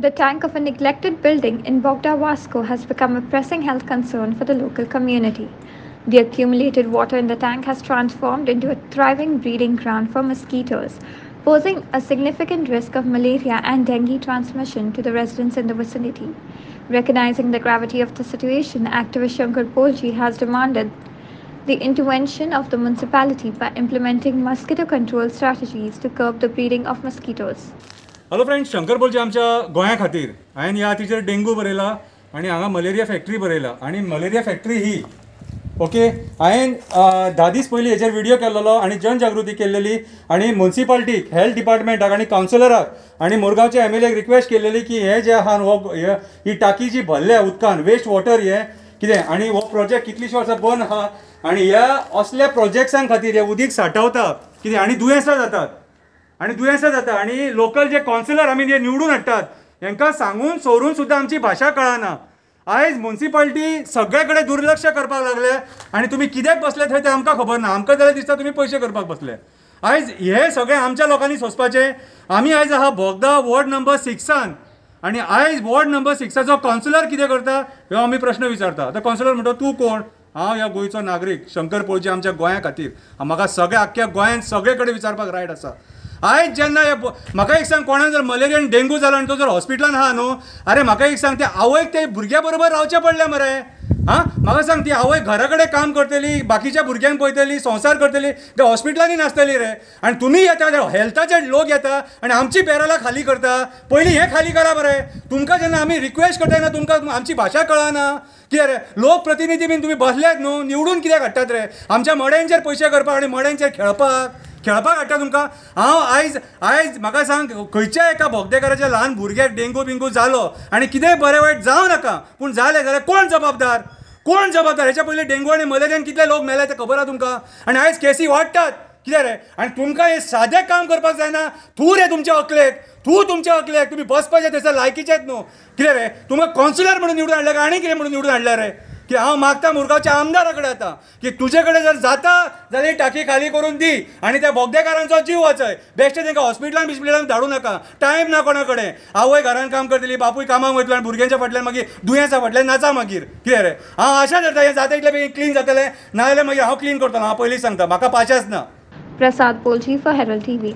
The tank of a neglected building in Bogda, Vasco has become a pressing health concern for the local community. The accumulated water in the tank has transformed into a thriving breeding ground for mosquitoes, posing a significant risk of malaria and dengue transmission to the residents in the vicinity. Recognizing the gravity of the situation, activist Shankar Polji has demanded the intervention of the municipality by implementing mosquito control strategies to curb the breeding of mosquitoes. Hello friends, Shankar Polji आमच्या गोंया खातीर हांवें ह्या तिचेर dengue बरयला आनी हांगा malaria factory बरयला आनी मलेरिया फॅक्टरी ही ओके हांवें 10 दीस पयलीं हेचेर व्हिडियो केल्लो आनी जनजागृती केल्लेली आनी मुन्सिपाल्टीक, हेल्थ डिपार्टमेंटाक आनी कावन्सिलराक आनी मुरगांवच्या एम एल एक रिक्वेस्ट केल्लेली की हे जे आहा हो ही टाकी जी भरल्या उदकान वेस्ट वॉटर हे कितें आनी हो प्रोजेक्ट कितलींशीं वर्सां बंद आहा आनी ह्या असल्या प्रोजेक्ट्सां खातीर हे उदीक सांठवता कितें आनी दुयेंसां जातात आनी दुयेंसां जाता आनी लोकल जे कावन्सिलर आमी जे निवडून हाडटात हेंकां सांगून सोरून सुद्दां आमची भाशा कळना. आयज मुन्सिपाल्टी सगळे कडेन दुर्लक्ष करपाक लागले आनी तुमी कित्याक बसले थंय तें आमकां खबर ना. आमकां जाल्यार दिसता तुमी पयशे करपाक बसले. आयज हे सगळें आमच्या लोकांनी सोंसपाचें. आमी आयज आहा बोगदा वॉर्ड नंबर 6 आनी आयज वॉर्ड नंबर 6 कावन्सिलर कितें करता हो आमी प्रश्न विचारता. आतां कावन्सिलर म्हणटा तूं कोण? हांव ह्या गोंयचो नागरीक शंकर पोळजी. आमच्या गोंया खातीर म्हाका सगळ्या आख्ख्या गोंयांत सगळे कडेन विचारपाक रायट आसा. आयज जेन्ना म्हाका एक सांग, कोणाक जर मलेरिया आनी डेंगू जालो आनी तो जर हॉस्पिटलान आहा न्हू, अरे म्हाका एक सांग, ते आवयक ते भुरग्या बरोबर रावचें पडलें मरे. आं म्हाका सांग, ती आवय घरा कडेन काम करतली, बाकीच्या भुरग्यांक पळयतली, संवसार करतली, ते हॉस्पिटलांनी नासतली रे. आनी तुमी येता, हेल्थाचे लोक येता आनी आमची बॅरलां खाली करता. पयलीं हें खाली करा मरे. तुमकां जेन्ना आमी रिक्वेस्ट करता तेन्ना तुमकां आमची भाशा कळना. कितें रे लोकप्रतिनिधी बीन तुमी बसल्यात न्हू, निवडून कित्याक हाडटात रे? आमच्या मड्यांचेर पयशे करपाक आनी मड्यांचेर खेळपाक खेळपाक हाडटा तुमकां. हांव आयज आयज म्हाका सांग, खंयच्या एका बोगदेकाराच्या ल्हान भुरग्याक डेंगू बिंगू जालो आनी कितेंय बरें वायट जावं नाका, पूण जालें जाल्यार कोण जबाबदार? कोण जबाबदार? हेच्या पयलीं डेंगू आनी मलेरियान कितले लोक मेले ते खबर आहा तुमकां. आनी आयज केसी वाडटात कितें रे? आनी तुमकां हें सादें काम करपाक जायना. तूं रे तुमच्या अकलेक, तूं तुमच्या अकलेक तुमी बसपाचें थंयसर लायकीचेच न्हू. कितें रे तुमकां कावन्सिलर म्हणून निवडून हाडले काय आनी कितें म्हणून निवडून हाडले रे? की हांव मागता मुरगांवच्या आमदारा कडेन आतां की तुजे कडेन जर जाता जाल्यार टाकी खाली करून दी आनी त्या बोगदेकारांचो जीव वाचय. बेश्टे तांकां हॉस्पिटलान बिस्पिटलान धाडूं नाका. टायम ना कोणा कडेन. आवय घरान काम करतली, बापूय कामाक वयतलो आनी भुरग्यांच्या फाटल्यान मागीर दुयेंसा फाटल्यान नाचा मागीर. कितें रे हांव आशा धरता हें जाता इतलें बेगीन क्लीन जातलें, नाजाल्यार मागीर हांव क्लीन करतलो. हांव पयलीं सांगता, म्हाका पाशाच ना. Prasad Polji for Herald TV.